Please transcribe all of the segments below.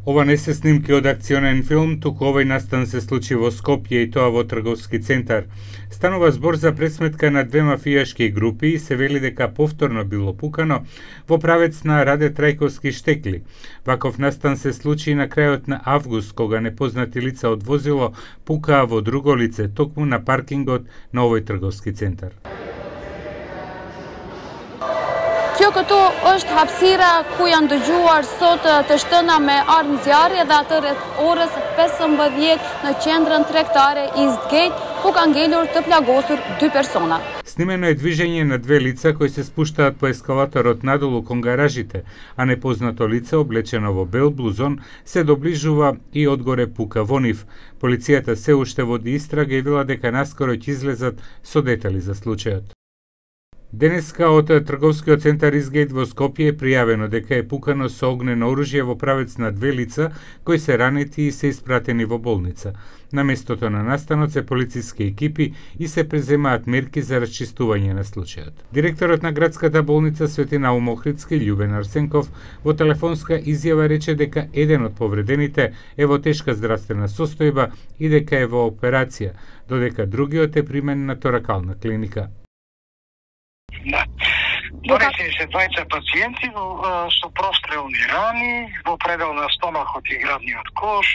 Ова не се снимки од акционен филм, туку овој настан се случи во Скопје и тоа во трговски центар. Станува збор за пресметка на две мафијашки групи и се вели дека повторно било пукано во правец на Раде Трајковски штекли. Ваков настан се случи на крајот на август, кога непознати лица од возило пукаа во друго лице, токму на паркингот на овој трговски центар. Kjo këtu është hapësira ku janë dëgjuar sot të shtëna me armë zjarri dhe atë rreth orës 15 në qendrën tregtare Eastgate, ku kanë ngelur të plagosur 2 persona. Снимено е движење на две лица кои се спуштаат по ескалаторот надолу кон гаражите, а непознато лице облечено во бел блузон се доближува и одгоре пука во нив. Полицијата се уште води истрага и вела дека наскоро ќе излезат со детали за случајот. Денеска од трговскиот центар Eastgate во Скопје е пријавено дека е пукано со огнено оружје во правец на две лица кои се ранети и се испратени во болница. На местото на настанот се полициски екипи и се преземаат мерки за расчистување на случајот. Директорот на градската болница Свети Наум Охридски, Љубен Арсенков, во телефонска изјава рече дека еден од повредените е во тешка здравствена состојба и дека е во операција, додека другиот е примен на торакална клиника. Да. Донесени се двајца пациенти со прострелни рани во предел на стомахот и градниот кош,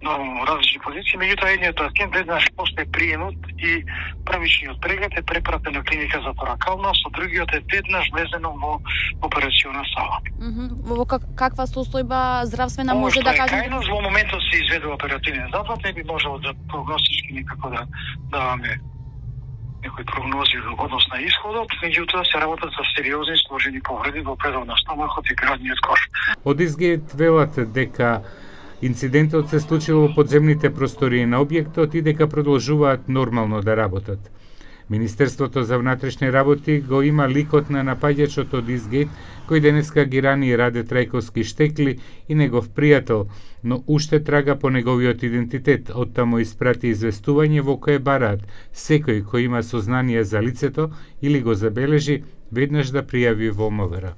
нормално различни позиции, меѓутоа едниот пациент веднаш после приемот и првичниот преглед е препратен на клиника за торакална, со другиот е веднаш влезено во операциона сала. Во каква состојба здравствена може да кажеме? Кајно во моментот се изведува оперативен запад, не би можело да прогностички никако да даваме некои прогнози во однос на исходот, меѓутоа се работат за сериозни сложени повреди во предел на стомахот и градниот кош. Од Eastgate велат дека инцидентот се случил во подземните простории на објектот и дека продолжуваат нормално да работат. Министерството за внатрешни работи го има ликот на напаѓачот од Eastgate, кој денеска ги рани Раде Трајковски штекли и негов пријател, но уште трага по неговиот идентитет. Оттаму испрати известување во кое бараат секој кој има сознание за лицето или го забележи веднаш да пријави во МВР.